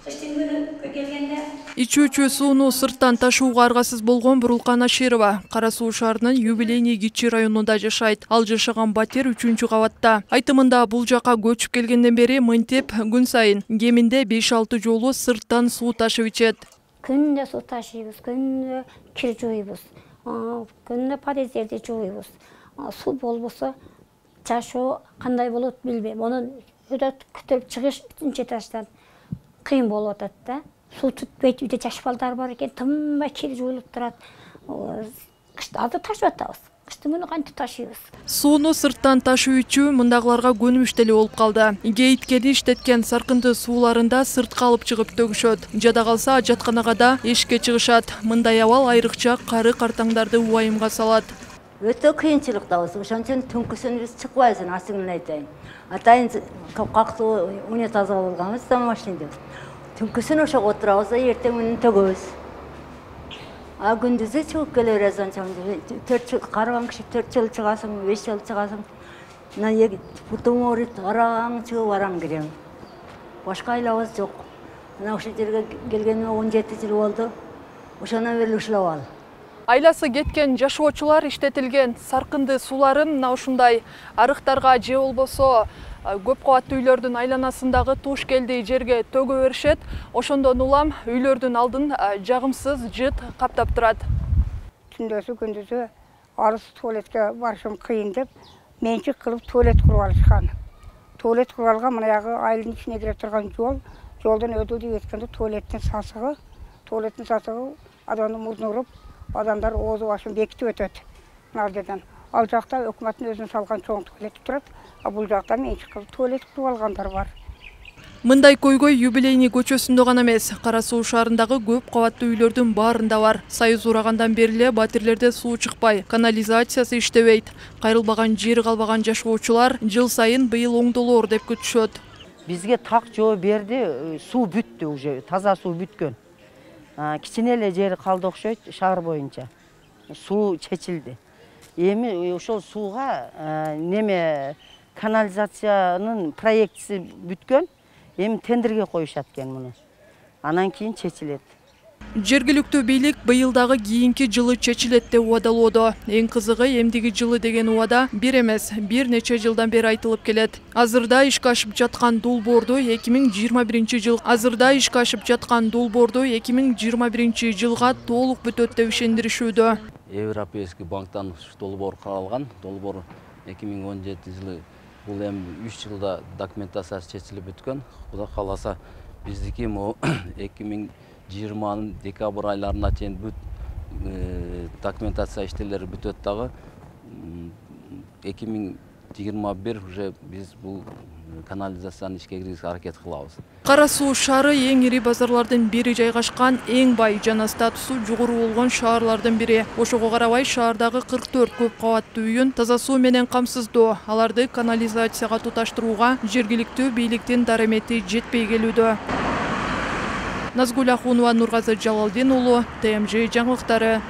Кыштын күнү келгенде ичүүчү сууну сырттан ташууга аргасыз болгон Бурулкан Аширова Кара Суу шаарынын Юбилейный Кичи районунда жашайт. Ал жашаган батир 3-кабатта. Айтымында бул жака көчүп келгенден бери мынтип күн сайын кеминде 5-6 жолу сырттан суу ташып ичет. Күндө суу ташыйбыз, күндө кир жууйбуз, күндө подъездерди жууйбуз. Суу болбосо жашоо кандай болот билбейм. Онун өтө күтүп чыгыш 3-этаждан кыйын болуп атат да. Суу түтпөйт, үйдө жаш балдар бар экен, тынбай кир жуулуп турат. Азыр ташып атабыз. Кыштын күнү кантип ташыйбыз? Сууну сырттан ташуу үчүн мындагыларга көнүмүш деле болуп калды. Кейиткени иштеткен саркынды сууларында сыртка алып чыгып төгүшөт. Жада калса жатканага да эшикке чыгышат. Мындай абал айрыкча кары картаңдарды убайымга салат. Өтө кыйынчылыктабыз. Ошон үчүн түнкүсүн биз чыкпайбыз, ачыгын айтайын. Атайын кактуу унитаз алганбыз, домашнийди. Түнкүсүн ошого отурабыз да эртең менен төгөбүз. Күндүзү чыгып келе беребиз анча. 4 жыл карыган киши 4 жыл чыгасың, 5 жыл чыгасың. Мына бутум ооруйт, араң чыгып араң кирем. Башка айлабыз жок. Мына ошол жерге келгениме 17 жыл болду. Ошондон бери ушул абал. Айласы кеткен жашоочулар иштетилген саркынды сууларын мына ушундай арыктарга же болбосо көп кабаттуу үйлөрдүн айланасындагы туш келди жерге төгө беришет. Ошондон улам үйлөрдүн алдын жагымсыз жыт каптап турат. Түндөсү күндүзү арыз туалетке барышым кыйын деп менчик кылып туалет куруп алышкан. Туалет куруп алган мынагы айылдын ичине кире турган жолдон өтүп кеткенде туалеттин сасыгы адамдын мурдуна уруп, адамдар оозу башын бекитип өтөт. Ал жерден. Ал жакта өкмөттүн өзүнүн салган чоң туалет турат, а бул жакта менчик кылып туалет куруп алгандар бар. Мындай көйгөй Юбилейный көчөсүндө гана эмес, Кара Суу шаарындагы көп кабаттуу үйлөрдүн баарында бар. Союз урагандан бери эле батирлерде суу чыкпай, канализациясы иштебейт. Кайрылбаган жери калбаган жашоочулар жыл сайын быйыл оңдолоор деп күтүшөт. Бизге так жооп берди, суу бүттү уже, таза суу бүткөн. Кичине эле жери калды окшойт шаар боюнча. Суу чечилди. Эми ошол сууга канализациянын проектиси бүткөн. Эми тендерге коюшат экен муну. Анан кийин чечилет. Жергиликтүү бийлик быйыл дагы кийинки жылы чечилет деп убадалоодо. Эң кызыгы эмдиги жылы деген убада бир эмес, бир нече жылдан бери айтылып келет. Азырда ишке ашып жаткан долбоорду 2021 жылга толук бүтөт деп ишендиришүүдө. Европейский банктан долбоор каралган. Долбоор 2017 жылы бул эми 3 жылда документациясы чечилип бүткөн. Кудай кааласа биздики 2020 декабрь айларына чейин бүт документация иштелери бүтөт дагы. 2021 уже биз бул канализацияны ишке киргизүүгө аракет кылабыз. Кара Суу шаары эң ири базарлардын бири жайгашкан, эң бай жана статусу жогору болгон шаарлардын бири. Ошого карабай шаардагы 44 көп кабаттуу үйүн таза суу менен камсыздоо, аларды канализацияга туташтырууга жергиликтүү бийликтин дарамети жетпей келүүдө. Назгул Ахунова, Нургазы Жалалдин уулу, ТМЖ жаңылыктары.